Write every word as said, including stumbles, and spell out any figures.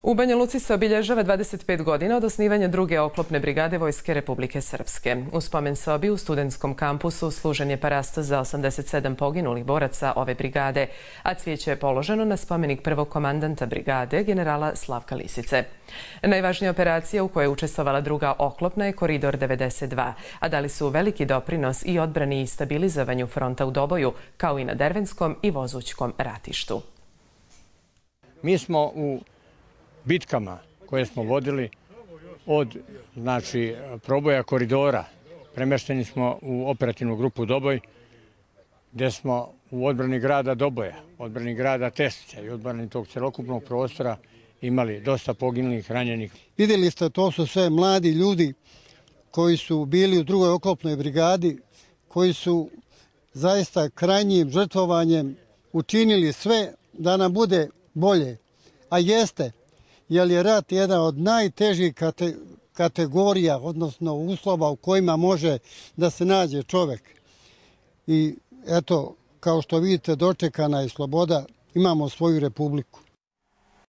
U Banja Luci se obilježava dvadeset pet godina od osnivanja druge oklopne brigade Vojske Republike Srpske. U spomen sobi u studentskom kampusu služen je parasto za osamdeset sedam poginulih boraca ove brigade, a cvijeće je položeno na spomenik prvog komandanta brigade, generala Slavka Lisice. Najvažnija operacija u kojoj je učestvovala druga oklopna je Koridor devedeset dva, a dali su veliki doprinos i odbrani i stabilizovanju fronta u Doboju, kao i na Dervenskom i Vozućkom ratištu. Mi smo u bitkama koje smo vodili od znači, proboja koridora premešteni smo u operativnu grupu Doboj, gdje smo u odbrani grada Doboja, odbrani grada Teslića i odbrani tog celokupnog prostora imali dosta poginulih, ranjenih. Vidjeli ste, to su sve mladi ljudi koji su bili u drugoj oklopnoj brigadi, koji su zaista krajnjim žrtvovanjem učinili sve da nam bude bolje. A jeste, jer je rat jedan od najtežih kate, kategorija, odnosno uslova u kojima može da se nađe čovjek. I eto, kao što vidite, dočekana je sloboda, imamo svoju republiku.